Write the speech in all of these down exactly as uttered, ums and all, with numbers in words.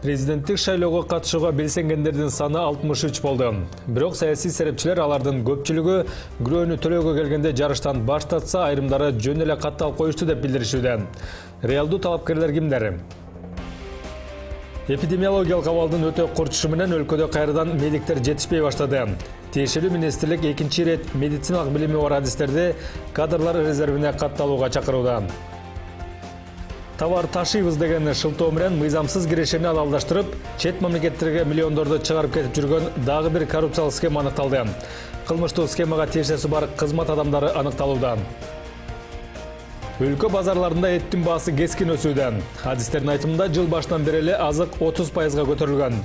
Президенттик шайлоого катышууга белсенгендердин саны алтымыш үч болду. Бирок саясий серепчилер алардын көпчүлүгү күрөөнү төлөөгө келгенде жарыштан баш тартса, айрымдары жөн эле каттал коюшту деп билдиришүүдө. Реалдуу талапкерлер кимдер? Эпидемиологиялык абалдын өтө курчушу менен өлкөдө кайрадан медиктер жетишпей баштады. Тиешелүү министрлик экинчи ирет медициналык билими бар адистерди кадрлар резервине катталууга чакырууда. Товар ташыйбыз деген шылтоо менен мыйзамсыз кирешени алалдаштырып, чет мамлекеттерге миллиондорду чыгарып кетип жүргөн дагы бир коррупциялык схема аныкталды. Кылмыштуу схемага тиешеси бар кызмат адамдары аныкталууда. Өлкө базарларында эттин баасы кескин өсүүдө. Адистердин айтымында жыл башынан бери эле азык отуз пайызга көтөрүлгөн.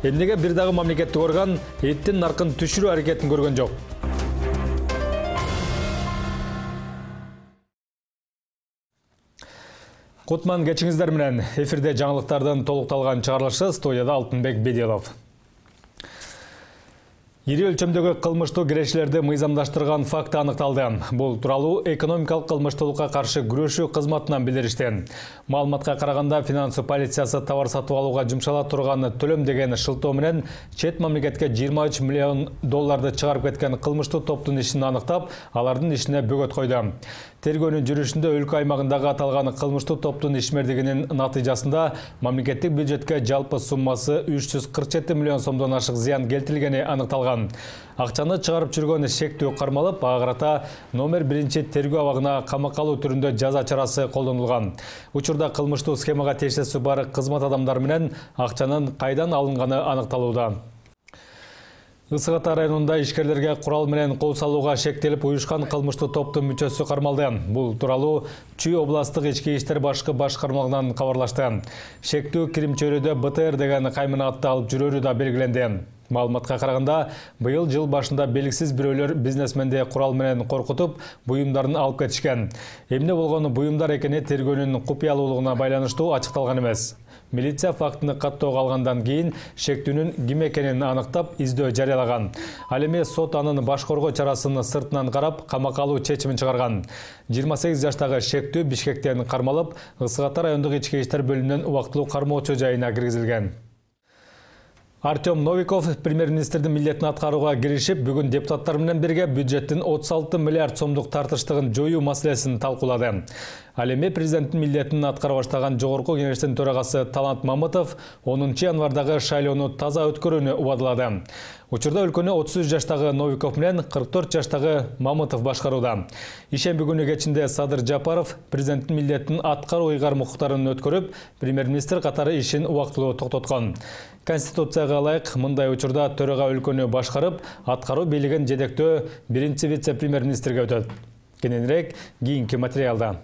Эмнеге бир дагы мамлекеттик орган эттин наркын түшүрүү аракетин көргөн жок? Кутман кечиңиздер менен эфирде жаңылыктардын толукталган чыгарылышы, студияда Алтынбек Бедилов. Ири өлчөмдөгү кылмыштуу кирешилерди мыйзамдаштырган факты аныкталды. Бул тууралуу экономикалык кылмыштуулукка каршы күрөшүү кызматынан билдиришти. Маалыматка караганда, финансы полициясы товар сатып алууга жумшала турган төлөм деген шылтоо менен чет мамлекетке жыйырма үч миллион долларды чыгарып кеткен кылмыштуу топтун ишин аныктап, алардын ишине бөгөт койду. Тергөөнүн жүрүшүндө өлкө аймагындагы аталган кылмыштуу топтун ишмердигинин натыйжасында мамлекеттик бюджетке жалпы суммасы үч жүз кырк жети миллион сомдон ашык зыян келтирилгени аныкталган. Акчаны чыгарып жүргөн шектүү кармалып, ага карата номер биринчи тергөө абагына камакка алуу түрүндө жаза чарасы колдонулган. Учурда кылмыштуу схемага тиешеси бар кызмат адамдары менен акчанын кайдан алынганы аныкталууда. Ысык Ата районунда ишкерлерге курал менен кол салууга шектелип уюшкан кылмыштуу топтун мүчөсү кармалды. Бул тууралуу Чүй областык ички иштер башкы башкармалыгынан кабарлашты. Шектүү кирим чөйрөдө Б Т Р деген кайманатты алып жүрөрү да белгиленди. Маалыматка караганда, быйыл жыл башында белгисиз бирөөлөр бизнесменди курал менен коркутуп, буюмдарын алып кетишкен. Эмне болгону буюмдар экени тергөөнүн купуялуулугуна байланыштуу ачыкталган эмес. Милиция фактыны каттоого алгандан кийин шектүүнүн ким экенин аныктап, издөө жарыялаган. Ал эми сот анын баш коргоо чарасын сыртынан карап, камакка алуу чечимин чыгарган. жыйырма сегиз жаштагы шектүү Бишкектен кармалып, Ысык Ата райондук ички иштер бөлүмүнүн убактылуу кармоочу жайына киргизилген. Артем Новиков премьер-министрдин милдетин аткарууга киришип, бүгүн депутаттар менен бирге бюджеттин отуз алты миллиард сомдук тартыштыгын жоюу маселесин талкуулады. Ал эми президенттин милдетин аткара баштаган жогорку кеңештин төрагасы Талант Мамытов онунчу январдагы шайлоону таза өткөрүүнү убадылады. Учурда өлкөнү отуз үч жаштагы Новиков менен кырк төрт жаштагы Мамытов башкарууда. Ишемби күнү кечинде Садыр Жапаров президенттин милдетин аткаруу ыйгар укуктарын өткөрүп, премьер-министр катары ишин убактылуу токтоткон. Конституцияга ылайык мындай учурда төрага өлкөнү башкарып, аткаруу бийлигин жетектөө биринчи вице-премьер-министрге өтөт. Кененирээк кийинки материалда.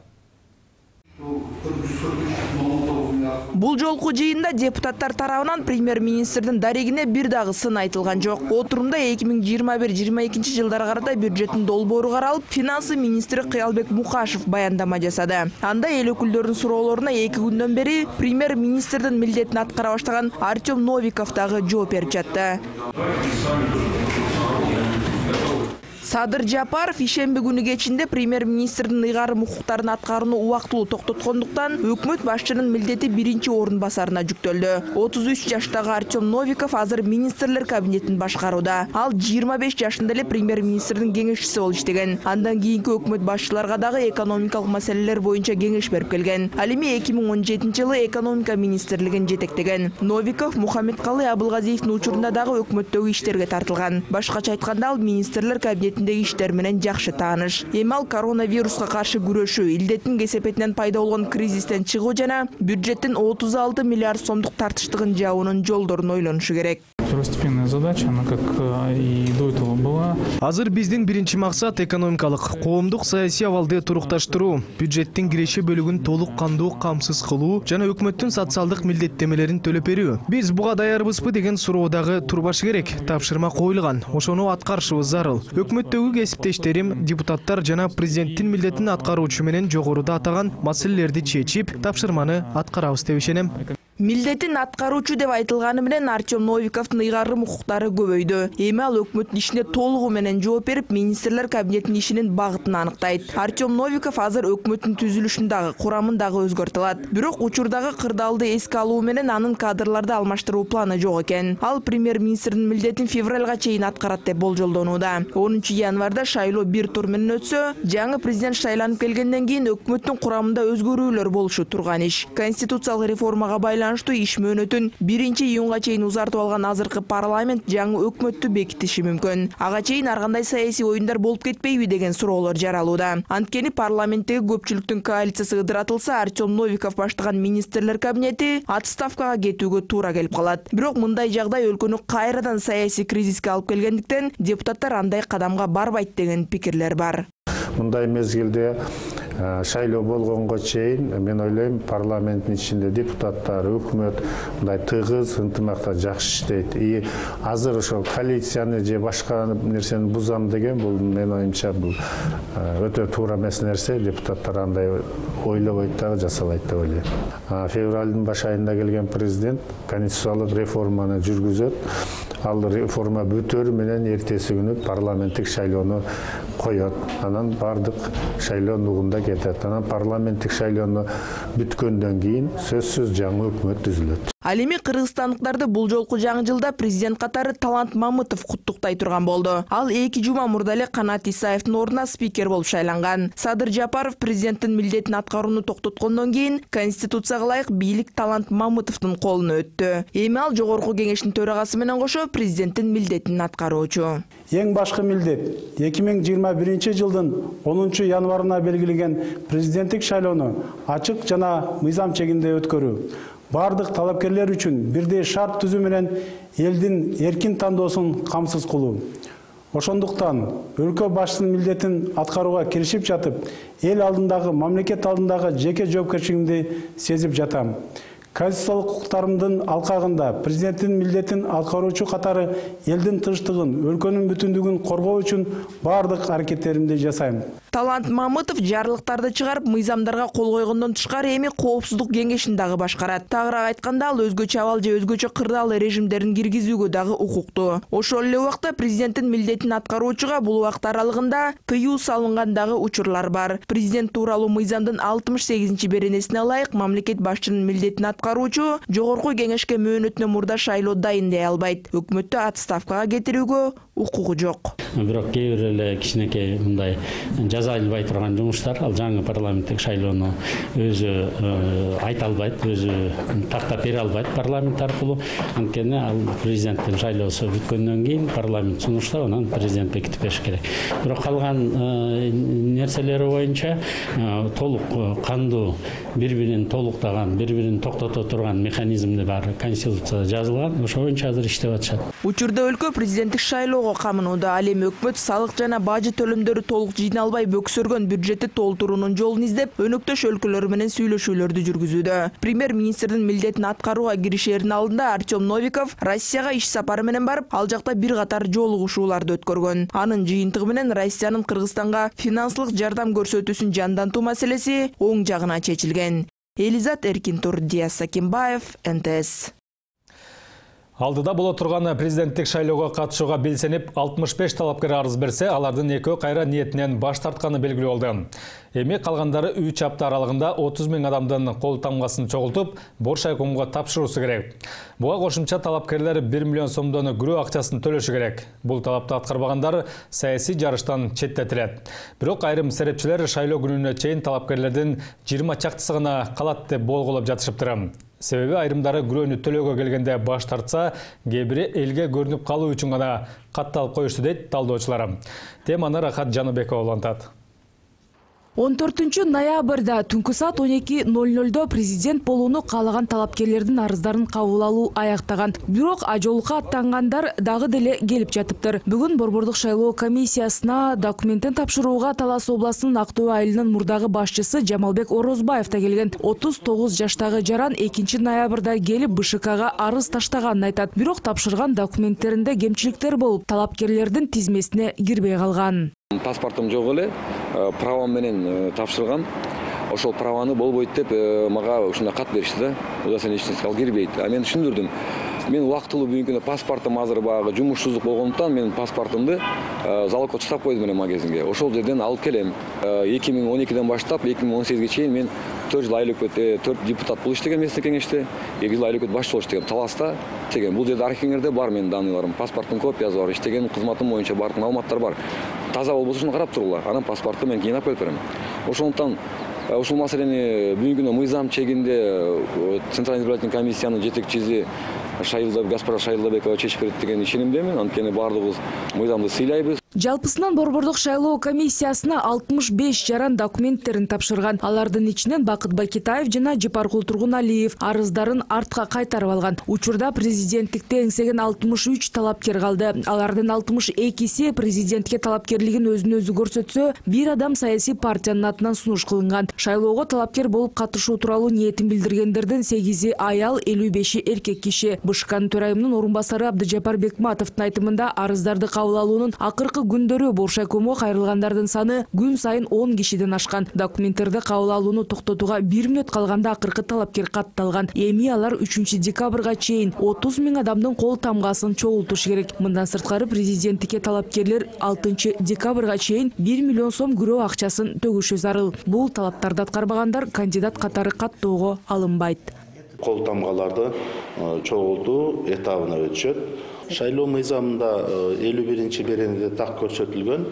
Бул жолку жыйында депутаттар тарабынан премьер-министрдин дарегине бир дагы сын айтылган жок. Отурумда эки миң жыйырма бир жыйырма экинчи жылдарга карата бюджеттин долбоору каралып, финансы министри Кыялбек Мукашев баяндама жасады. Анда эл өкүлдөрүнүн суроолоруна эки күндөн бери премьер-министрдин милдетин аткара баштаган Артем Новиков дагы жооп берип жатты. Садыр Жапаров ишемби күнү кечинде премьер-министрдин ыйгарым укуктарын аткарууну убактылуу токтоткондуктан өкмөт башчынын милдети биринчи орун басарына жүктөлдү. отуз үч жаштагы Артем Новиков азыр министрлер кабинетин башкарууда. Ал жыйырма беш жашында эле премьер-министрдин кеңешчиси болуп иштеген. Андан кийинки өкмөт башчыларга дагы экономикалык маселелер боюнча кеңеш берип келген. Ал эми эки миң он жетинчи жылы экономика министрлигин жетектеген. Новиков Мухаммедкалый Абылгазиевдин учурунда дагы өкмөттөгү иштерге тартылган. Башкача айтканда, ал министрлер кабинетиндеги иштер менен жакшы тааныш. Эми ал коронавируска каршы күрөшүү, илдеттин кесепетинен пайда болгон кризистен чыгуу жана бюджеттин отуз алты миллиард сомдук тартыштыгын жабуунун жолдорун ойлонушу керек. Второстепенная задача, она как и до этого была. Азыр биздин биринчи максат экономикалык, коомдук саясий абалды турукташтыруу, бюджеттин киреше бөлүгүн толук кандуу камсыз кылуу жана өкмөттүн социалдык милдеттемелерин төлөп берүү. Биз буга даярбызбы деген суроо дагы турбашы керек. Тапшырма коюлган, ошону аткарышыбыз зарыл. Өкмөттөгү кесиптештерим, депутаттар жана президенттин милдетин аткаруучу менен жогоруда атаган маселелерди чечип, тапшырманы аткарабыз деп ишенем. Милдетин аткаруучу деп айтылганы менен Артем Новиковдун ыйгарым укуктары көбөйдү. Эми ал өкмөттүн ишине толугу менен жооп берип, министрлер кабинетинин ишинин багытын аныктайт. Артем Новиков азыр өкмөттүн түзүлүшүн дагы, курамын дагы өзгөртө алат. Бирок учурдагы кырдаалды эске алуу менен анын кадрларды алмаштыруу планы жок экен. Ал премьер-министрдин милдетин февралга чейин аткарат деп болжолдонууда. онунчу январда шайлоо бир тур менен өтсө, жаңы президент шайланып келгенден кийин өкмөттүн курамында өзгөрүүлөр болушу турган иш. Конституциялык реформага байланыштуу иш мөөнөтүн биринчи июнга чейин узартып алган азыркы парламент жаңы өкмөттү бекитиши мүмкүн. Ага чейин ар кандай саясий оюндар болуп кетпейби деген суроолор жаралууда. Анткени парламенттеги көпчүлүктүн коалициясы ыдыратылса, Артем Новиков баштаган министрлер кабинети отставкага кетүүгө туура келип калат. Бирок мындай жагдай өлкөнү кайрадан саясий кризиске алып келгендиктен депутаттар андай кадамга барбайт деген пикирлер бар. Мындай мезгилде шайлоо болгонго чейин мен ойлойм парламенттин ичинде депутаттар, өкмөт мындай тыгыз ынтымакта жакшы иштейт. И азыр ошол коалицияны же башка нерсени бузам деген бул мен оюмча бул өтө туура эмес нерсе. Депутаттар андай ойлобойт дагы жасабайт деп ойлойм. Февралдын баш айында келген президент конституциялык реформаны жүргүзөт. Ал реформа бүтөрү менен эртеси күнү парламенттик шайлоону коет. Анан бардык шайлоо нугунда кетет. Анан парламенттик шайлоону бүткөндөн кийин сөзсүз жаңы өкмөт түзүлөт. Ал эми кыргызстандыктарды бул жолку жаңы жылда президент катары Талант Мамытов куттуктай турган болду. Ал эки жума мурда эле Канат Исаевдин ордуна спикер болуп шайланган. Садыр Жапаров президенттин милдетин аткарууну токтоткондон кийин Конституцияга ылайык бийлик Талант Мамытовдун колуна өттү. Эми ал жогорку кеңештин төрагасы менен кошо президенттин милдетин аткаруучу. Эң башкы милдет эки миң жыйырма биринчи жылдын онунчу январына белгилеген президенттик шайлоону ачык жана мыйзам чегинде өткөрүү. Бардык талапкерлер үчүн бирдей шарт түзүү менен элдин эркин тандоосун камсыз кылуу. Ошондуктан өлкө башчысынын милдетин аткарууга киришип жатып, эл алдындагы, мамлекет алдындагы жеке жоопкерчилигимди сезип жатам. Конституциялык укуктарымдын алкагында президенттин милдетин аткаруучу катары элдин тынчтыгын, өлкөнүн бүтүндүгүн коргоо үчүн бардык аракеттеримди жасайм. Талант Мамытов жарлыктарды чыгарып, мыйзамдарга кол койгондон тышкары эми коопсуздук кеңешин дагы башкарат. Тагыраак айтканда, ал өзгөчө абал же өзгөчө кырдаал режимдерин киргизүүгө дагы укуктуу. Ошол эле убакта президенттин милдетин аткаруучуга бул убакыт аралыгында тыюу салынган дагы учурлар бар. Президент тууралуу мыйзамдын алтымыш сегизинчи беренесине ылайык мамлекет башчынын милдетин аткаруучу жогорку кеңешке мөөнөтүнөн мурда шайлоо дайындай албайт. Өкмөттү отставкага кетирүүгө укугу жок. Бирок кээ бир эле кичинекей мындай жаза албай турган жумуштар ал жаңы парламенттик шайлоону өзү айта албайт, өзү тактап бере албайт парламент аркылуу. Анткени ал президенттин шайлоосу бүткөндөн кийин парламент сунуштап, анан президент бекитип бериш керек. Бирок калган нерселери боюнча толук кандуу, бири-бирин толуктаган, бири-бирин токтото турган механизмди бар конституцияда жазылган. Ошо боюнча азыр иштеп атышат. Учурда өлкө президенттик шайлоого камынууда. Ал эми өкмөт салык жана бажы төлөмдөрү толук жыйналбай бөксөргөн бюджетти толтуруунун жолун издеп, өнөктөш өлкөлөр менен сүйлөшүүлөрдү жүргүзүүдө. Премьер-министрдин милдетин аткарууга киришердин алдында Артем Новиков Россияга иш сапары менен барып, ал жакта бир катар жолугушууларды өткөргөн. Анын жыйынтыгы менен Россиянын Кыргызстанга финансылык жардам көрсөтүүсүн жандантуу маселеси оң жагына чечилген. Элизат Эркинтур, Диас Сакимбаев, эн тэ эс. Алдыда боло турган президенттик шайлоого катышууга белсенип алтымыш беш талапкер арыз берсе, алардын экөө кайра ниетинен баш тартканы белгилүү болду. Эми калгандары үч апта аралыгында отуз миң адамдын кол тамгасын чогултуп, Боршайкомго тапшыруусу керек. Буга кошумча талапкерлер бир миллион сомдон күрөө акчасын төлөшү керек. Бул талапты аткарбагандар саясий жарыштан четтетилет. Бирок айрым серепчилер шайлоо күнүнө чейин талапкерлердин жыйырма чактысы гана калат деп болгулап жатышыптыр. Себеби айрымдары күрөөнү төлөөгө келгенде баш тартса, кээ бири элге көрүнүп калуу үчүн гана катталып коюшту дейт талдоочулар. Теманы Рахат Жаныбекова улантат. он төртүнчү ноябрда түнкү саат он эки ноль нольдо президент болууну каалаган талапкерлердин арыздарын кабыл алуу аяктаган. Бирок ажолукка аттангандар дагы деле келип жатыптыр. Бүгүн Борбордук шайлоо комиссиясына документтин тапшырууга Талас областынын Актөө айылынын мурдагы башчысы Жамалбек Орозбаев да келген. отуз тогуз жаштагы жаран экинчи ноябрда келип бэ шэ ка арыз таштаганын айтат. Бирок тапшырган документтеринде кемчиликтер болуп, талапкерлердин тизмесине кирбей калган. Паспортум жок эле, правом менен тапшырган. ошол праваны болбойт деп мага ушундай кат беришти да. Куда сен эч нерсеге кирбейт. А мен түшүндүрдүм. Мен убактылуу бүгүнкү күндө паспортум азыр баягы жумушсуздук болгондуктан мен паспортумду залогко чыгап койдум эле магазинге. Ошол жерден алып келем. эки миң он экиден баштап эки миң он сегизге чейин мен төрт жыл айыл өкмөт, төрт депутат болуп иштеген местный кеңеште, эки жыл айыл өкмөт башчы болуп иштеген Таласта. Иштеген. Бул жерде архивиңерде бар менин данныйларым, паспорттун копиясы бар, иштеген кызматым боюнча бардык маалыматтар бар. Таза болбосо ушуну карап туруңлар. Анан паспорту мен кийин алып келип берем. Ошондуктан ушул маселени бүгүнкү күндө мыйзам чегинде Центральный избирательный комиссиянын жетекчиси Шайылда Гаспара Шайылдабекова чечип берет деген ишенимдемин. Анткени баардыгыбыз мыйзамды сыйлайбыз. Жалпысынан Борбордук шайлоо комиссиясына алтымыш беш жаран документтерин тапшырган. Алардын ичинен Бакыт Бакитаев жана Жапаркул Тургуналиев арыздарын артка кайтарып алган. Учурда президенттикте эңсеген алтымыш үч талапкер калды. Алардын алтымыш экиси президентке талапкерлигин өзүнө өзү көрсөтсө, бир адам саясий партиянын атынан сунуш кылынган. Шайлоого талапкер болуп катышуу тууралуу ниетин билдиргендердин сегизи аял, элүү беши эркек киши. Бышкан төрайымынын орун басары Абдыжапар Бекматовдун айтымында арыздарды кабыл алуунун акыркы күндөрү Боршайкомго кайрылгандардын саны күн сайын он кишиден ашкан. Документтерди кабыл алууну токтотууга бир мүнөт калганда акыркы талапкер катталган. Эми алар үчүнчү декабрга чейин отуз миң адамдын кол тамгасын чогултуш керек. Мындан сырткары президенттикке талапкерлер алтынчы декабрга чейин бир миллион сом күрөө акчасын төгүшү зарыл. Бул талаптарды аткарбагандар кандидат катары каттоого алынбайт. Кол тамгаларды чогултуу этабына өтүшөт. Шайлоо мыйзамында элүү биринчи беренеде так көрсөтүлгөн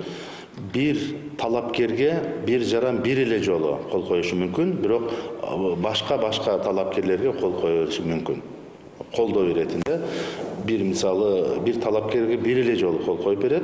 бир талапкерге бир жаран бир эле жолу кол коюшу мүмкүн, бирок башка-башка талапкерлерге кол кое бериши мүмкүн. Колдоо беретинде бир мисалы бир талапкерге бир эле жолу кол коюп берет,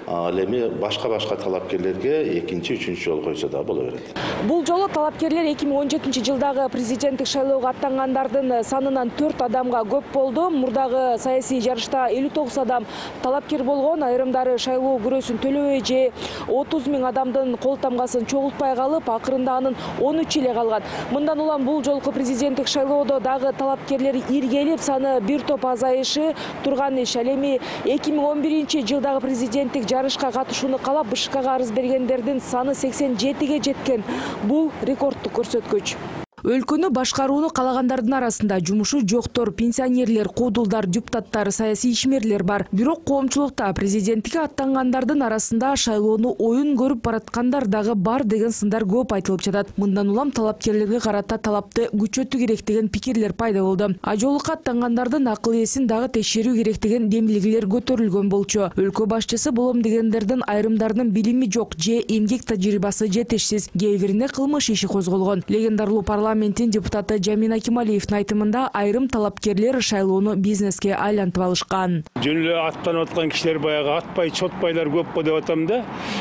ал эми башка-башка талапкерлерге экинчи, үчүнчү жолу койсо да боло берет. Бул жолу талапкерлер эки миң он жетинчи жылдагы президенттик шайлоого аттангандардын санынан төрт адамга көп болду. Мурдагы саясий жарышта элүү тогуз адам талапкер болгон, айрымдары шайлоо күрөөсүн төлөбөй же отуз миң адамдын кол тамгасын чогултпай калып, акырында анын он үчү эле калган. Мындан улам бул жолку президенттик шайлоодо дагы талапкерлер иргелип, саны бир топ азайышы турган иш. Ал эми эки миң он биринчи жылдагы президенттик жарышка катышууну каалап БШКга арыз бергендердин саны сексен жетиге жеткен. Бул рекорддук көрсөткүч. Өлкөнү башкарууну калагандардын арасында жумушу жоктор, пенсионерлер, куудулдар, депутаттар, саясий ишмерлер бар. Бирок коомчулукта президенттикке аттангандардын арасында шайлоону оюн көрүп бараткандар дагы бар деген сындар көп айтылып жатат. Мындан улам талапкерлерге карата талапты күчөтүү керек деген пикирлер пайда болду. Ажоолукка аттангандардын акыл эсин дагы текшерүү керек деген демилгилер көтөрүлгөн болчу. Өлкө башчысы болом дегендердин айрымдарынын билими жок же эмгек тажрыйбасы жетишсиз, кээ бирине кылмыш иши козголгон. Легендарлуу парламент Парламенттин депутаты Жамин Акималиевдин айтымында айрым талапкерлер шайлоону бизнеске айлантып алышкан. Жөн эле аттанып аткан кишилер баягы атпай, чотпайлар көп го деп атам да.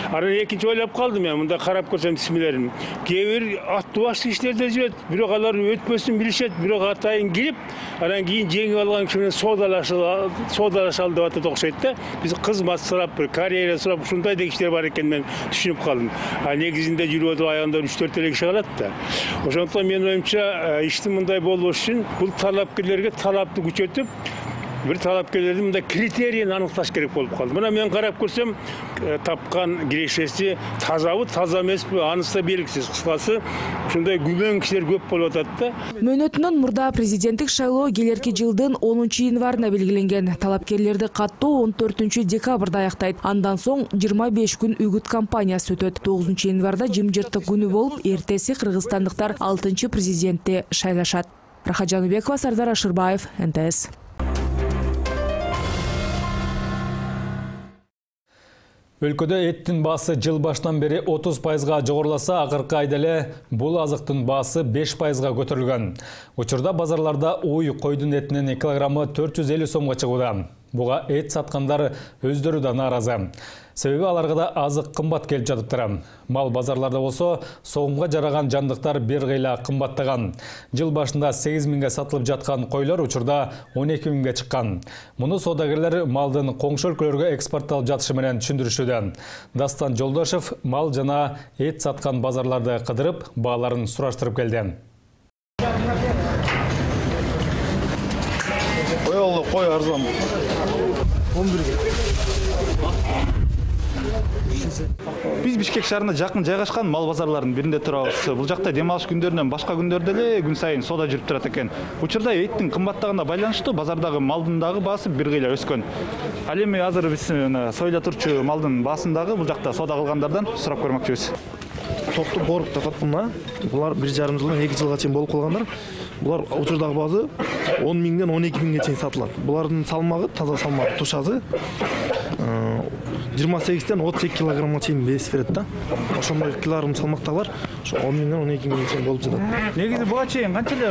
Анан экинчи ойлоп калдым мен, мында карап көрсөм исмилерин. Кээ бир аттуу башты кишилер да жүрөт, бирок алар өтпөсүн билишет, бирок атайын кирип, анан кийин жеңип алган киши менен соодалашалы, соодалашалы деп атат окшойт да. Биз кызмат сурап, бир карьера сурап, ушундай да кишилер бар экен мен түшүнүп калдым. А негизинде жүрүп отуруп аягында үч төрт эле киши калат да. Ошондуктан мен оюмча иштин мындай болуш үчүн бул талапкерлерге талапты күчөтүп, бир талапкерлердин мындай критерийин аныкташ керек болуп калды. Мына мен карап көрсөм, тапкан кирешеси тазабы, таза эмеспи, анысы да белгисиз. Кыскасы, ушундай күмөн кишилер көп болуп атат да. Мөөнөтүнөн мурда президенттик шайлоо келерки жылдын онунчу январына белгиленген. Талапкерлерди каттоо он төртүнчү декабрда аяктайт. Андан соң жыйырма беш күн үгүт кампаниясы өтөт. тогузунчу январда жымжыртык күнү болуп, эртеси кыргызстандыктар алтынчы президентти шайлашат. Рахат Жаныбекова, Сардар Ашырбаев, эн тэ эс. Өлкөдө эттин баасы жыл башынан бери отуз пайызга жогоруласа, акыркы айда эле бул азыктын баасы беш пайызга көтөрүлгөн. Учурда базарларда уй койдун этинин килограммы төрт жүз элүү сомго чыгууда. Буга эт саткандар өздөрү да нааразы. Себеби аларга да азык кымбат келип жатыптыр. Мал базарларда болсо, согумга жараган жандыктар бир кыйла кымбаттаган. Жыл башында сегиз миңге сатылып жаткан койлор учурда он эки миңге чыккан. Муну соодагерлер малдын коңшу өлкөлөргө экспортталып жатышы менен түшүндүрүшүүдө. Дастан Жолдошев мал жана эт саткан базарларды кыдырып, бааларын сураштырып келди. Кой арзан. он бирге. Биз Бишкек шаарына жакын жайгашкан мал базарларынын биринде турабыз. Бул жакта дем алыш күндөрүнөн башка күндөрдө эле күн сайын соода жүрүп турат экен. Учурда эттин кымбаттыгына байланыштуу базардагы малдын дагы баасы бир кыйла өскөн. Ал эми азыр биз союла турчу малдын баасын дагы бул жакта соода кылгандардан сурап көрмөкчүбүз. Токту боруп татат мына. Булар бир жарым жылдан эки жылга чейин болуп калгандар. Булар учурдагы баасы он миңден он эки миңге чейин сатылат. Булардын салмагы, таза салмак тушасы жыйырма сегизден отуз эки килограммга чейин вес берет да. Ошондой килограмм салмактагылар ошо он миңден он эки миңге чейин болуп жатат. Негизи буга чейин канча эле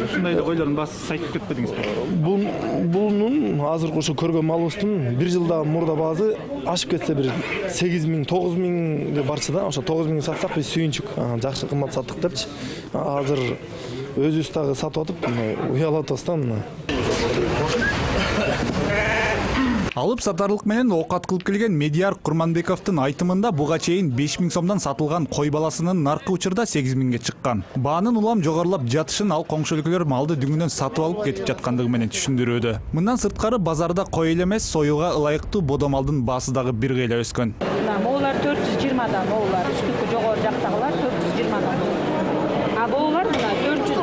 ушундай эле койлордун баасы сайтып кетпедиңизби? Бул бунун азыркы ошо көргөн малыбыздын бир жылда мурда баасы ашып кетсе бир сегиз миң, тогуз миңге барчы да. Ошо тогуз миңге сатсак биз сүйүнчүк. Жакшы кымбат саттык депчи. Азыр өзүбүз дагы сатып атып, уялып атабыз да мына. Алып сатарлык менен оокат кылып келген Медияр Курманбековдун айтымында буга чейин беш миң сомдон сатылган кой баласынын наркы учурда сегиз миңге чыккан. Баанын улам жогорулап жатышын ал коңшу өлкөлөр малды дүңүнөн сатып алып кетип жаткандыгы менен түшүндүрүүдө. Мындан сырткары базарда кой эле эмес, союга ылайыктуу бодо малдын баасы дагы бир кыйла өскөн. Моолар төрт жүз жыйырмадан, моолар үстүкү жогору жактагылар төрт жүз жыйырмадан. А боолар мына төрт жүздөн.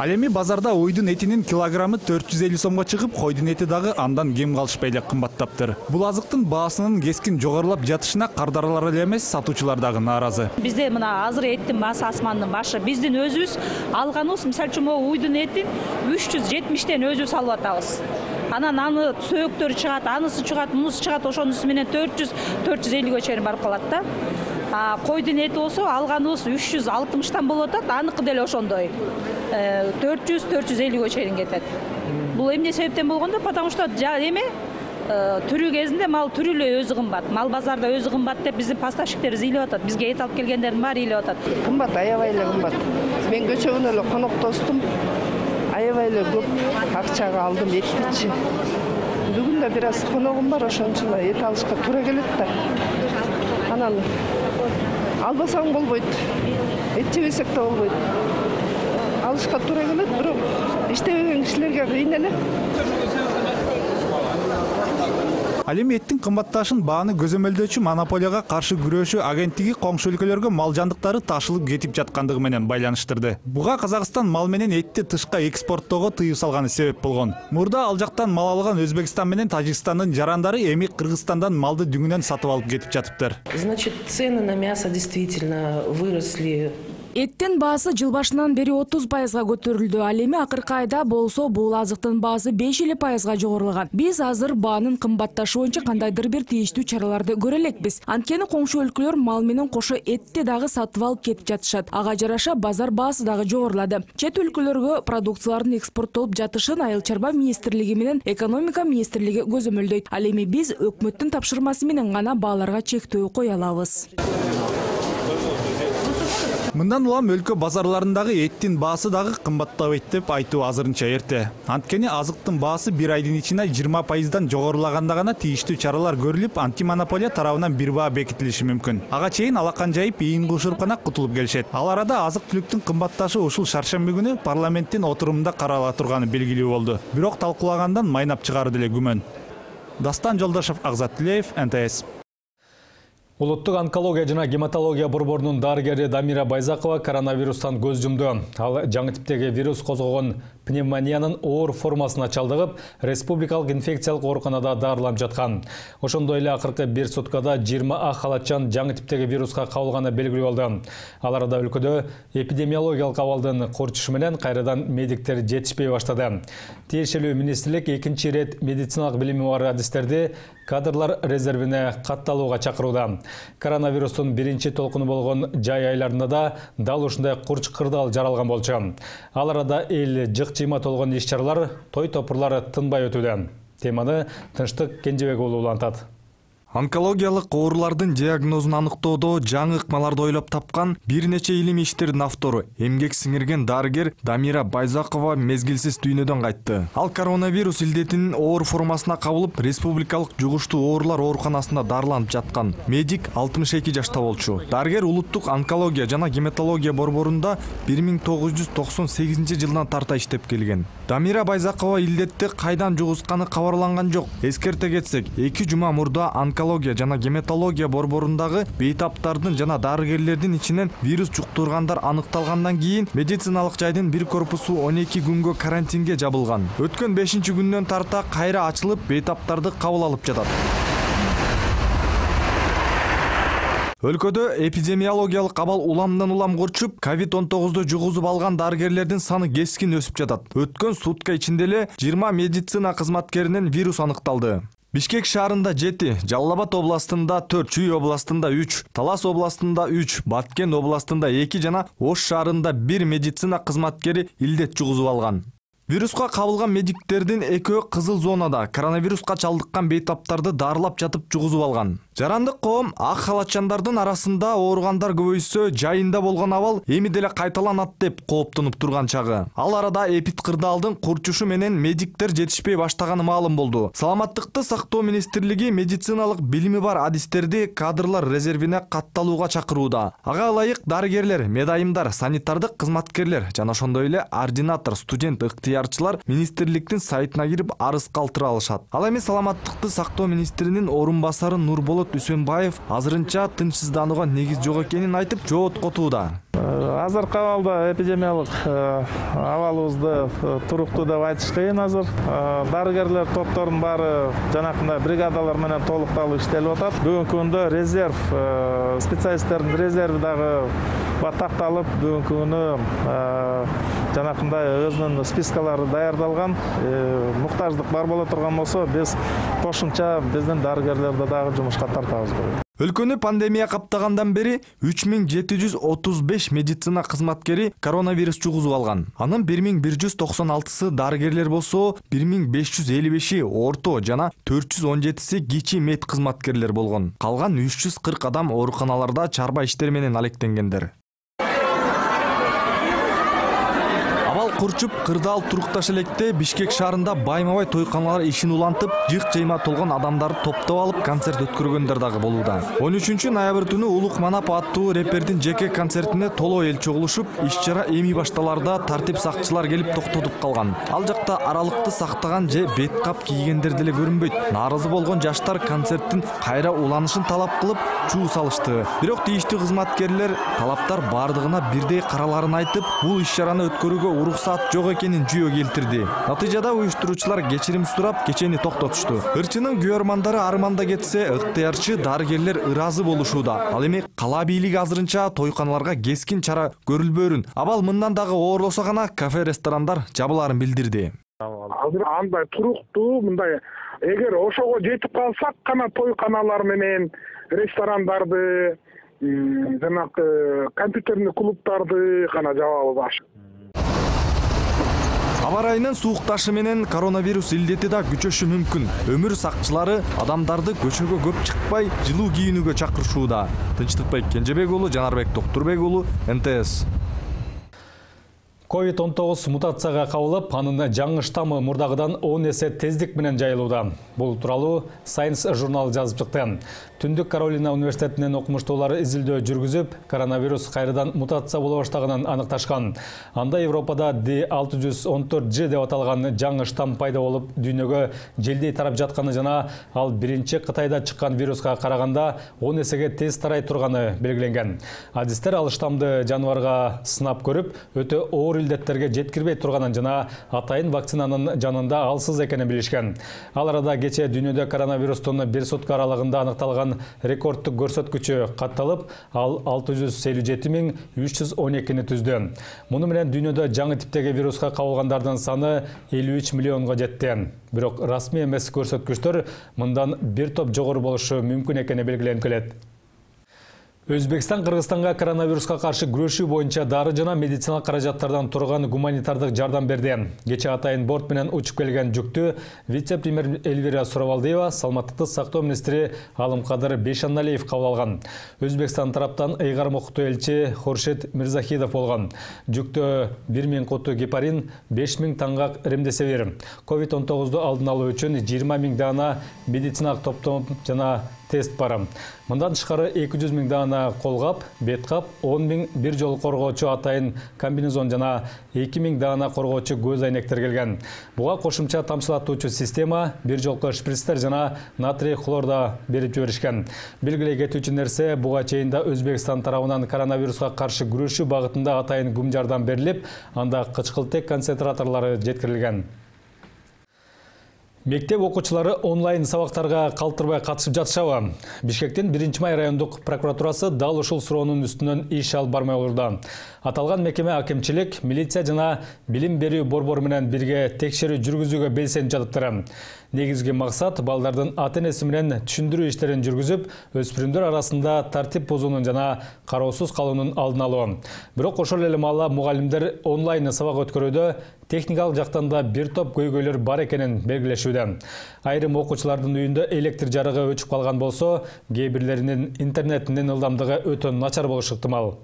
Ал эми базарда уйдун этинин килограммы төрт жүз элүү сомго чыгып, койдун эти дагы андан кем калышпай эле кымбаттаптыр. Бул азыктын баасынын кескин жогорулап жатышына кардаралар эле эмес, сатуучулар дагы нааразы. Бизде мына азыр эттин баасы асмандын башы. Биздин өзүбүз алганыбыз, мисалы үчүн могу уйдун этин үч жүз жетимиштен өзүбүз алып атабыз. Анан аны сөөктөрү чыгат, анысы чыгат, мунусу чыгат, ошонусу менен төрт жүз төрт жүз элүүгө чейин барып калат да. А койдун эти болсо алганыбыз үч жүз алтымыштан болуп атат, аныкы деле ошондой. төрт жүз төрт жүз элүүгө чейин кетет. Бул эмне себептен болгондо, потому что эме түрү кезинде мал түрү эле өзү кымбат. Мал базарда өзү кымбат деп биздин поставщиктерибиз ыйлап атат. Бизге эт алып келгендердин баары ыйлап атат. Кымбат, аябай эле кымбат. Мен көчөгүнө эле коноктостум. Аябай эле көп акчага алдым этти. Бүгүн да бир аз коногум бар, ошон үчүн эт алышка туура келет да. Анан албасаң болбойт. Эт жебесек да болбойт. Алышка туура келет, бирок иштебеген кишилерге кыйын эле. Ал эми эттин кымбатташын бааны көзөмөлдөөчү монополияга каршы күрөшүү агенттиги коңшу өлкөлөргө мал жандыктары ташылып кетип жаткандыгы менен байланыштырды. Буга Казакстан мал менен этти тышка экспорттоого тыюу салганы себеп болгон. Мурда ал жактан мал алган Өзбекстан менен Тажикстандын жарандары эми Кыргызстандан малды дүңүнөн сатып алып кетип жатыптыр. Значит, цены на мясо действительно выросли. Эттин баасы жыл башынан бери отуз пайызга көтөрүлдү. Ал эми акыркы айда болсо бул азыктын баасы беш элүү пайызга жогорулаган. Биз азыр баанын кымбатташы боюнча кандайдыр бир тийиштүү чараларды көрө элекпиз. Анткени коңшу өлкөлөр мал менен кошо этти дагы сатып алып кетип жатышат. Ага жараша базар баасы дагы жогорулады. Чет өлкөлөргө продукциялардын экспорттолуп жатышын Айыл чарба министрлиги менен экономика министрлиги көзөмөлдөйт. Ал эми биз өкмөттүн тапшырмасы менен гана бааларга чектөө кое алабыз. Мындан улам өлкө базарларындагы эттин баасы дагы кымбаттабайт деп айтуу азырынча эрте. Анткени азыктын баасы бир айдын ичинде жыйырма пайыздан жогорулаганда гана тийиштүү чаралар көрүлүп, антимонополия тарабынан бир баа бекитилиши мүмкүн. Ага чейин алакан жайып, ийин кушуруп гана кутулуп келишет. Ал арада азык-түлүктүн кымбатташы ушул шаршемби күнү парламенттин отурумунда карала турганы белгилүү болду. Бирок талкуулагандан майнап чыгары деле күмөн. Дастан Жолдошов, Агзат Тилеев, эн тэ эс. Улуттук онкология жана гематология борборунун дарыгери Дамира Байзакова коронавирустан көз жумду. Ал жаңы типтеги вирус козгогон пневмониянын оор формасына чалдыгып, республикалык инфекциялык ооруканада дарыланып жаткан. Ошондой эле акыркы бир суткада жыйырма а халатчан жаңы типтеги вируска кабылганы белгилүү болду. Ал арада өлкөдө эпидемиологиялык абалдын курчушу менен кайрадан медиктер жетишпей баштады. Тиешелүү министрлик экинчи ирет медициналык билими бар адистерди кадрлар резервине катталууга чакырууда. Коронавирустун биринчи толкуну болгон жай айларында да дал ушундай курч кырдаал жаралган болчу. Ал арада эл жык-жыйма толгон иш-чаралар, той-топурлар тынбай өтүүдө. Теманы Тынчтык Кенжебек уулу улантат. Онкологиялык оорулардын диагнозун аныктоодо жаңы ыкмаларды ойлоп тапкан бир нече илимий иштердин автору, эмгек сиңирген дарыгер Дамира Байзакова мезгилсиз дүйнөдөн кайтты. Ал коронавирус илдетинин оор формасына кабылып, республикалык жугуштуу оорулар ооруканасында дарыланып жаткан. Медик алтымыш эки жашта болчу. Дарыгер улуттук онкология жана гематология борборунда бир миң тогуз жүз токсон сегизинчи жылдан тарта иштеп келген. Дамира Байзакова илдетти кайдан жугузганы кабарланган жок. Эскерте кетсек, эки жума мурда онкология онкология жана гематология борборундагы бейтаптардын жана дарыгерлердин ичинен вирус жуктургандар аныкталгандан кийин медициналык жайдын бир корпусу он эки күнгө карантинге жабылган. Өткөн бешинчи күндөн тарта кайра ачылып, бейтаптарды кабыл алып жатат. Өлкөдө эпидемиологиялык абал уламдан улам курчуп, ковид он тогузду жугузуп алган дарыгерлердин саны кескин өсүп жатат. Өткөн сутка ичинде эле жыйырма медицина кызматкеринен вирус аныкталды. Бишкек шаарында жети, Жалал Абад областында төрт, Чүй областында үч, Талас областында үч, Баткен областында эки жана Ош шаарында бир медицина кызматкери илдет жугузуп алган. Вируска кабылган медиктердин экөө кызыл зонада коронавируска чалдыккан бейтаптарды дарылап жатып жугузуп алган. Жарандык коом ак халатчандардын арасында ооругандар көбөйсө, жайында болгон абал эми деле кайталанат деп кооптонуп турган чагы. Ал арада эпид кырдаалдын курчушу менен медиктер жетишпей баштаганы маалым болду. Саламаттыкты сактоо министрлиги медициналык билими бар адистерди кадрлар резервине катталууга чакырууда. Ага ылайык дарыгерлер, медайымдар, санитардык кызматкерлер жана ошондой эле ординатор, студент, ыктыярчылар министрликтин сайтына кирип арыз калтыра алышат. Ал эми саламаттыкты сактоо министринин орун басары Нурболот Үсөнбаев азырынча тынчсызданууга негиз жок экенин айтып, жооткотууда. Азыркы абалда эпидемиялык абалыбызды туруктуу деп айтыш кыйын азыр. Дарыгерлер топторунун баары жанакындай бригадалар менен толукталып иштелип атат. Бүгүнкү күндө резерв, специалисттердин резерви дагы такталып, бүгүнкү күнү жанакындай өзүнүн спискалары даярдалган. Муктаждык бар боло турган болсо, биз кошумча биздин дарыгерлерди дагы жумушка тартабыз. Өлкөнү пандемия каптагандан бери үч миң жети жүз отуз беш медицина кызматкери коронавирус жугузуп алган. Анын бир миң бир жүз токсон алтысы дарыгерлер болсо, бир миң беш жүз элүү беши орто жана төрт жүз он жетиси кичи мед кызматкерлер болгон. Калган үч жүз кырк адам ооруканаларда чарба иштер менен алектенгендер. Абал курчуп, кырдаал турукташ электе Бишкек шаарында байма-бай тойканалар ишин улантып, жык-жыйма толгон адамдарды топтоп алып концерт өткөргөндөр дагы болууда. он үчүнчү ноябрь түнү Улук Манап аттуу рэпердин жеке концертине толоо эл чогулушуп, иш-чара эми башталарда тартип сакчылар келип токтотуп калган. Ал жакта аралыкты сактаган же бет кап кийгендер деле көрүнбөйт. Нааразы болгон жаштар концерттин кайра уланышын талап кылып, чуу салышты. Бирок тийиштүү кызматкерлер талаптар бардыгына бирдей караларын айтып, бул иш-чараны өткөрүүгө уруксат жок экенин жүйө келтирди. Натыйжада уюштуруучулар кечирим сурап, кечени токтотушту. Ырчынын күйөрмандары арманда кетсе, ыктыярчы дарыгерлер ыраазы болушууда. Ал эми кала бийлиги азырынча тойканаларга кескин чара көрүлбөөрүн, абал мындан дагы оорлосо гана кафе, ресторандар жабылаарын билдирди. Азыр андай туруктуу, мындай эгер ошого жетип калсак гана тойканалар менен ресторандарды, жанагы компьютерный клубтарды гана жабабыз. Аба ырайынын суукташы менен коронавирус илдети да күчөшү мүмкүн. Өмүр сакчылары адамдарды көчөгө көп чыкпай, жылуу кийинүүгө чакырышууда. Тынчтыкбек Кенжебек уулу, Жанарбек Токтурбек уулу, эн тэ эс. ковид он тогуз мутацияга кабылып, анын жаңы штаммы мурдагыдан он эсе тездик менен жайылууда. Бул тууралуу Science журналы жазып чыкты. Түндүк Каролина университетинин окумуштуулары изилдөө жүргүзүп, коронавирус кайрадан мутация боло баштаганын аныкташкан. Анда Европада ди алты жүз он төрт жи деп аталган жаңы штамм пайда болуп, дүйнөгө желдей тарап жатканы жана ал биринчи Кытайда чыккан вируска караганда он эсеге тез тарай турганы белгиленген. Адистер ал штаммды жаныбарга сынап көрүп, өтө оор илдеттерге жеткирбей турганын жана атайын вакцинанын жанында алсыз экенин билишкен. Ал арада кече дүйнөдө коронавирустун бир сутка аралыгында аныкталган рекордтук көрсөткүчү катталып, ал алты жүз элүү жети миң үч жүз он экини түздү. Муну менен дүйнөдө жаңы типтеги вируска кабылгандардын саны элүү үч миллионго жетти. Бирок расмий эмес көрсөткүчтөр мындан бир топ жогору болушу мүмкүн экени белгиленип келет. Өзбекстан Кыргызстанга коронавируска каршы күрөшүү боюнча дары жана медициналык каражаттардан турган гуманитардык жардам берди. Кече атайын борт менен учуп келген жүктү вице-премьер Эльвира Суравалдиева, саламаттыкты сактоо министри Алымкадыр Бейшаналиев кабыл алган. Өзбекстан тараптан ыйгар мукуттуу элчи Хуршид Мирзахидов болгон. Жүктө бир миң куту гепарин, беш миң таңгак ремдесивир. ковид он тогузду алдын алуу үчүн жыйырма миң даана медициналык топтом жана тест бар. Мындан тышкары эки жүз миң даана колгап, бет кап, он миң бир жол коргоочу атайын комбинезон жана эки миң даана коргоочу көз айнектер келген. Буга кошумча тамчылатуучу система, бир жолку шприцтер жана натрий хлор да берип жиберишкен. Белгилей кетүүчү нерсе, буга чейин да Өзбекстан тарабынан коронавируска каршы күрөшүү багытында атайын гум жардам берилип, анда кычкылтек концентраторлору жеткирилген. Мектеп окуучулары онлайн сабактарга калтырбай катышып жатышабы? Бишкектин биринчи май райондук прокуратурасы дал ушул суроонун үстүнөн иш алып бармай отурду. Аталган мекеме акимчилик, милиция жана билим берүү борбору менен бирге текшерүү жүргүзүүгө белсенип жатыптыр. Негизги максат балдардын ата-энеси менен түшүндүрүү иштерин жүргүзүп, өспүрүмдөр арасында тартип бузуунун жана кароосуз калуунун алдын алуу. Бирок ошол эле маалда мугалимдер онлайн сабак өткөрүүдө техникалык жактан да бир топ көйгөйлөр бар экенин белгилешүүдө. Айрым окуучулардын үйүндө электр жарыгы өчүп калган болсо, кээ бирлеринин интернетинин ылдамдыгы өтө начар болушу ыктымал.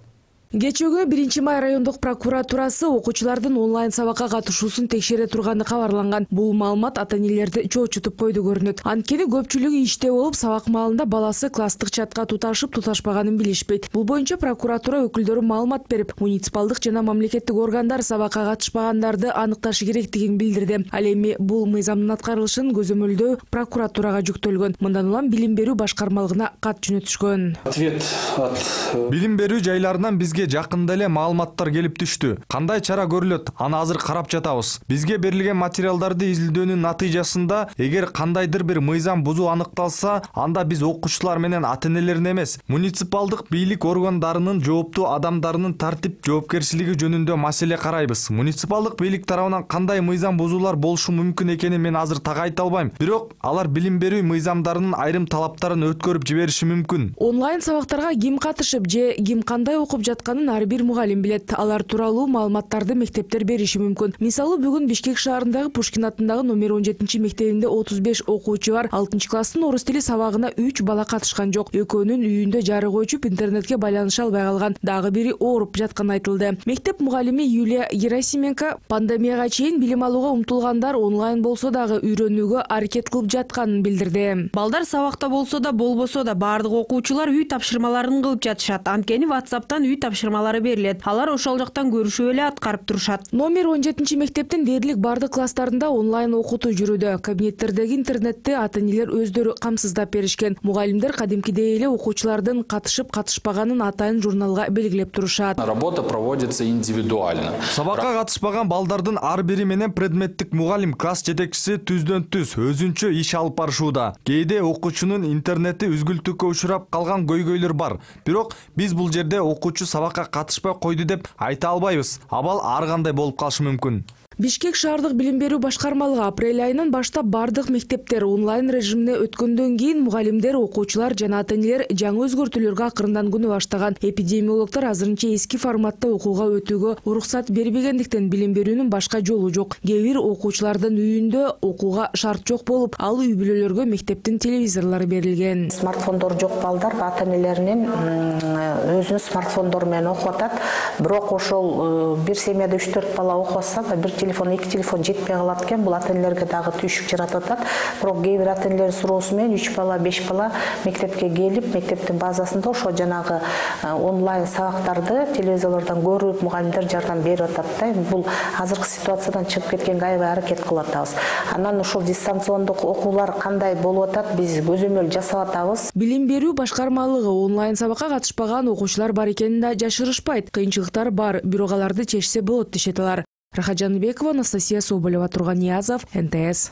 Кечүүгү биринчи май райондук прокуратурасы окуучулардын онлайн сабакка катышуусун текшере турганы кабарланган. Бул маалымат ата-энелерди чоочутуп койду көрүнөт. Анткени көпчүлүгү иште болуп, сабак маалында баласы класстык чатка туташып туташпаганын билишпейт. Бул боюнча прокуратура өкүлдөрү маалымат берип, муниципалдык жана мамлекеттик органдар сабакка катышпагандарды аныкташы керектигин билдирди. Ал эми бул мыйзамдын аткарылышын көзөмөлдөө прокуратурага жүктөлгөн. Мындан улам билим берүү башкармалыгына кат жөнөтүшкөн. Ответ от билим берүү жайларынан бизге жакында эле маалыматтар келип түштү. Кандай чара көрүлөт? Аны азыр карап жатабыз. Бизге берилген материалдарды изилдөөнүн натыйжасында эгер кандайдыр бир мыйзам бузуу аныкталса, анда биз окуучулар менен ата-энелерин эмес, муниципалдык бийлик органдарынын жооптуу адамдарынын тартип жоопкерчилиги жөнүндө маселе карайбыз. Муниципалдык бийлик тарабынан кандай мыйзам бузуулар болушу мүмкүн экенин мен азыр так айта албайм. Бирок алар билим берүү мыйзамдарынын айрым талаптарын өткөрүп жибериши мүмкүн. Онлайн сабактарга ким катышып же ким кандай окуп жаткан ар бир мугалим билет. Алар тууралуу маалыматтарды мектептер бериши мүмкүн. Мисалы, бүгүн Бишкек шаарындагы Пушкин атындагы номер он жетинчи мектебинде отуз беш окуучу бар. алтынчы класстын орус тили сабагына үч бала катышкан жок. Экөөнүн үйүндө жарык өчүп, интернетке байланыша албай калган. Дагы бири ооруп жатканы айтылды. Мектеп мугалими Юлия Герасименко пандемияга чейин билим алууга умтулгандар онлайн болсо дагы үйрөнүүгө аракет кылып жатканын билдирди. Балдар сабакта болсо да болбосо да бардык окуучулар үй тапшырмаларын кылып жатышат. Анткени WhatsApp'тан үй тапшырмалары берилет. Алар ошол жактан көрүшүп эле аткарып турушат. Номер он жетинчи мектептин дээрлик бардык класстарында онлайн окутуу жүрүүдө. Кабинеттердеги интернетти ата-энелер өздөрү камсыздап беришкен. Мугалимдер кадимкидей эле окуучулардын катышып катышпаганын атайын журналга белгилеп турушат. Работа проводится индивидуально. Сабакка катышпаган балдардын ар бири менен предметтик мугалим, класс жетекчиси түздөн түз өзүнчө иш алып барышууда. Кээде окуучунун интернети үзгүлтүккө учурап калган көйгөйлөр бар. Бирок биз бул жерде окуучу сабакка катышпай койду деп айта албайбыз. Абал ар кандай болуп калышы мүмкүн. Бишкек шаардык билим берүү башкармалыгы апрель айынан баштап бардык мектептер онлайн режимине өткөндөн кийин мугалимдер, окуучулар жана ата-энелер жаңы өзгөртүүлөргө акырындан күнөө баштаган. Эпидемиологдор азырынча эски форматта окууга өтүүгө уруксат бербегендиктен билим берүүнүн башка жолу жок. Кээ бир окуучулардын үйүндө окууга шарт жок болуп, ал үй бүлөлөргө мектептин телевизорлору берилген. Смартфондор жок балдар ата-энелеринин өзүнүн смартфондору менен окуп атат. Бирок ошол бир семьяда үч төрт бала окуп атса да бир телефон, эки телефон жетпей калат экен. Бул ата-энелерге дагы түйшүк жаратып атат. Бирок кээ бир ата-энелердин суроосу менен үч бала, беш бала мектепке келип, мектептин базасында ошо жанагы онлайн сабактарды телевизорлордон көрүп, мугалимдер жардам берип атат да. Бул азыркы ситуациядан чыгып кеткенге аябай аракет кылып атабыз. Анан ушул дистанциондук окуулар кандай болуп атат, биз көзөмөл жасап атабыз. Билим берүү башкармалыгы онлайн сабакка катышпаган окуучулар бар экенин да жашырышпайт. Кыйынчылыктар бар, бирок аларды чечсе болот дешет алар. Рахат Жаныбекова, Анастасия Соболева, Турганиязов, эн тэ эс.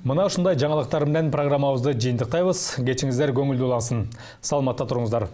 Мына ушундай жаңылыктар менен программабызды жыйынтыктайбыз. Кечиңиздер көңүлдүү улансын. Саламатта туруңуздар.